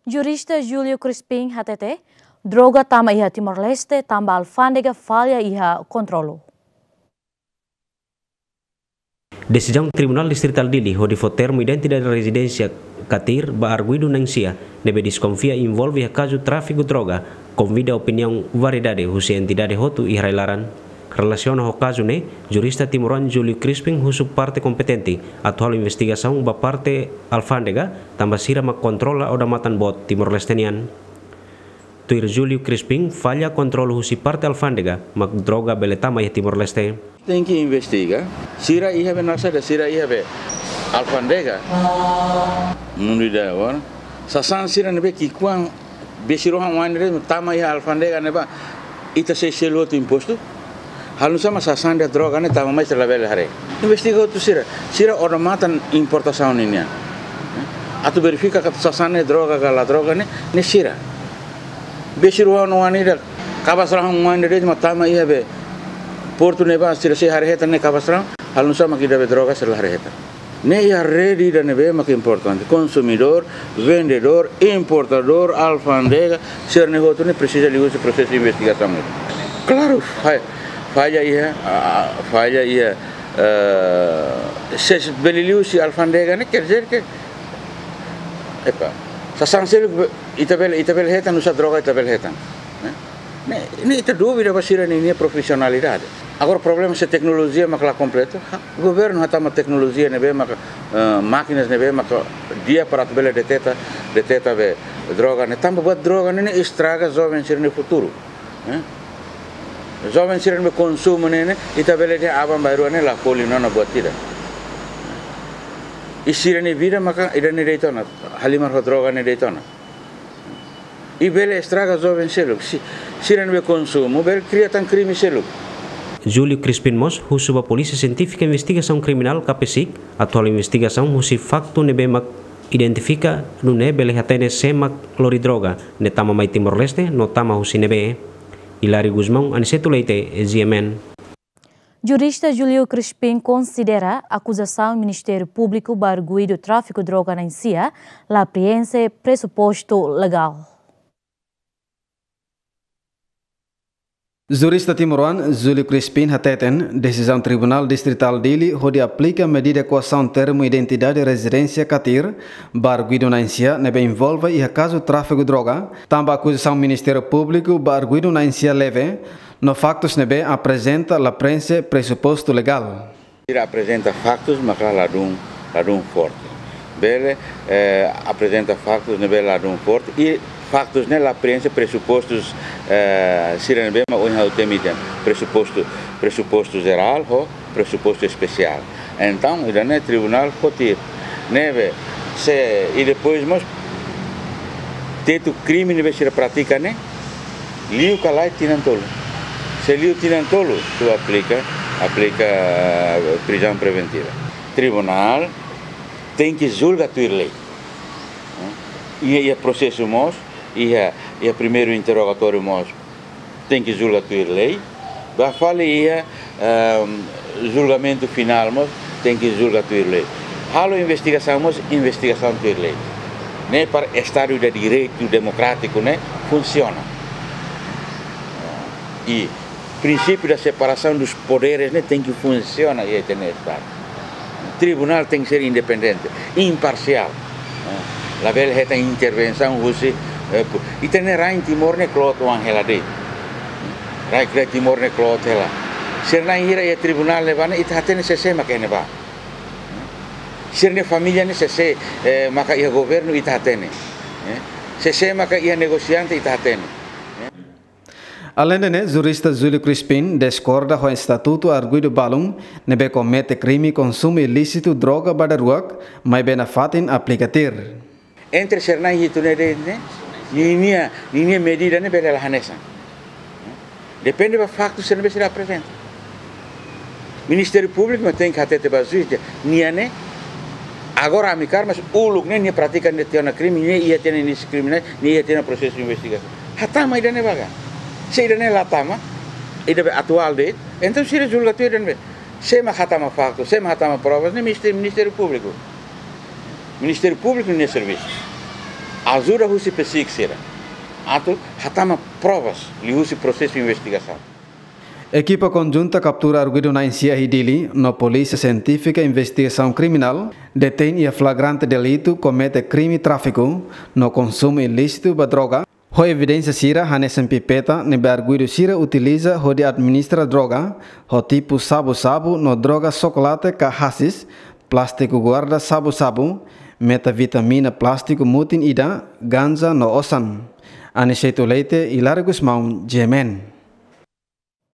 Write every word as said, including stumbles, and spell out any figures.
Jurista Júlio Crispim hatete, droga tama iha Timor-Leste tanba alfándega falla iha kontrolu. Desizaun Tribunál Distritál Dili hodi fó termu identidade rezidénsia CATIR ba arguidu na'in-sia ne'ebé deskonfia envolve iha kazu tráfiku droga konvida opiniaun variedade husi entidade hotu iha rai-laran. Relasiona ho kazu ne'e, jurista timoroan Júlio Crispim husu parte kompetente atu halo investigasaun ba parte alfándega, tanba sira mak kontrola odamatan boot Timor-Leste nian. Tuir Júlio Crispim, falla kontrolu husi parte alfándega mak droga bele tama iha Timor-Leste. Tenke investiga. Sira iha be nasa da sira iha be alfándega. Mundu ida agora. Sasán sira ne'ebé ki'ikoan besik rohan oan de'it tama iha alfándega ne'ebá. Ita sei selu hotu impostu. Halo nu'usá mak sasán ida droga ne'e tama mai sira labele haree. Investiga hotu sira. Sira odamatan importasaun ninian. Atu verifika katak sasán ne'e droga ka la droga ne'e, ne'e sira. Besik rohan oan ida, kabas rahun oan ida de'it mak tama iha be portu ne'ebá sira sei haree hetan ne'e kabas rahun, halo nu'usá mak ida be droga sira la haree hetan. Ne'e iha rede ida ne'ebé mak importante, konsumidór, vendedór, importadór, alfándega, sira-ne'e hotu ne'e presiza liuhusi prosesu investigasaun ne'e. Klaru, fa-, falla iha, ah, falla iha, eh, se bele liuhusi alfándega ne'e, quer dizer que, epa, sasán seluk ita bele, ita bele hetan, nu'usá droga ita bele hetan, ne'e? Ne'e, ne'e ita dúvida ba sira-nia, nia profisionalidade. Agora problema se teknolojia mak la kompletu, ha, governu hatama teknolojia ne'ebé maka, eh, mákinas ne'ebé maka di'ak para atu bele deteta, deteta be droga ne'e. Tanba buat droga ne'e, ne'e estraga joven sira-nia futuru, eh? Joven sira ne'ebé konsumu ne'e, ne'e, ita bele dehan aban-bainrua ne'e la fó liu ona buat ida. I sira-nia vida maka ida-ne'e de'it ona, halimar ho droga ne'e de'it ona. I bele estraga joven seluk. Si-, sira ne'ebé konsumu, bele kria tan krime seluk. Júlio Crispim mós husu ba Polísia Sientífika Investigasaun Kriminál, KAPESIK, atu halo investigasaun husi faktu ne'ebé mak identifika, nune'e bele hatene sé mak lori droga ne'e tama mai Timor-Leste no tama husi ne'ebé. Hilário Gusmão, Aniceto Leite, G M N. Jurista Júlio Crispim konsidera akuzasaun Ministériu Públiku ba arguidu tráfiku droga na'in-sia la preenxe presupostu legál. Jurista timoroan Júlio Crispim hateten, desizaun Tribunál Distritál Dili hodi aplika medida koasaun termu identidade rezidénsia CATIR ba arguidu na'in-sia ne'ebé envolve iha kazu tráfiku droga, tanba akuzasaun Ministériu Públiku ba arguidu na'in-sia leve, no faktus ne'ebé aprezenta la preenxe presupostu legál. Sira aprezenta faktus maka ladún, ladún forte. Bele, eh, aprezenta faktus ne'ebé ladún forte i faktus ne'e la preenxe presupostus, eh, sira ne'ebé mak ohin ha'u temi tiha. Presupostu, presupostu jerál ho presupostu espesiál. Entaun, ida-ne'e tribunál foti ne'ebé se, i depois mós tetu krime ne'ebé sira pratika ne'e, liu ka lae tinan tolu. Se liu tinan tolu, atu aplika, aplika, eh, prizaun preventiva. Tribunál tenke julga tuir lei. Iha, iha prosesu mós, iha, iha primeiru interrogatóriu mós, tenke julga tuir lei. Ba fali iha, ehm, julgamentu finál mós, tenke julga tuir lei. Halo investigasaun mós, investigasaun tuir lei. Ne'e para Estadu de Direitu demokrátiku ne'e funsiona. I prinsípiu da separasaun dos poderes ne'e tenke funsiona iha ita-nia Estadu. Tribunál tenke ser independente, imparsiál. Eh, labele hetan intervensaun husi, eh, pu-, ita-nia rain Timor ne'e kloot oan hela de'it. Rain, rain Timor ne'e kloot hela. Sira na'in hira iha tribunál ne'ebá ne'e ita hatene sé-sé maka iha ne'ebá. Sira-nia família ne'e sé-sé, eh, maka iha governu ita hatene. Eh, sé-sé maka iha negosiante ita hatene. Aleinde ne'e, jurista Júlio Crispim diskorda ho estatutu arguidu balun ne'ebé komete krime konsumu ilísitu droga ba daruak, maibé nafatin aplika CATIR. Entre sira na'in hitu ne'e de'it ne'e, ninia, ninia medida ne'e bele la hanesan. Depende ba faktu sira ne'ebé sira aprezenta. Ministériu Públiku mak tenke hatete ba juís dehan nia ne'e, agora ami kaer, mas uluk ne'e nia pratika ne'e tiha ona krime, nia iha tiha ona inísiu kriminál, nia iha tiha ona prosesu investigasaun. Hatama ida-ne'e ba ka. Se ida-ne'e la tama, ida be atuál de'it, entaun sira julga tuir ida-ne'ebé. Sé mak hatama faktu, sé mak hatama provas, ne'e Ministériu, Ministériu Públiku. Ministériu Públiku nia servisu. ajuda husi PCIC sira atu hatama provas liuhusi prosesu investigasaun. Ekipa konjunta kaptura arguidu na'in sia iha Dili no Polísia Sientífika Investigasaun Kriminál detein iha flagrante delitu komete krime tráfiku no konsumu ilísitu ba droga, ho evidénsia sira hanesan pipeta ne'ebé arguidu sira utiliza hodi administra droga, ho tipu xabu-xabu no droga xokolate ka haxixe, plástiku guarda xabu-xabu, metavitamina plástiku mutin ida, ganja no osan. Aniceto Leite, Hilário Gusmão, G M N.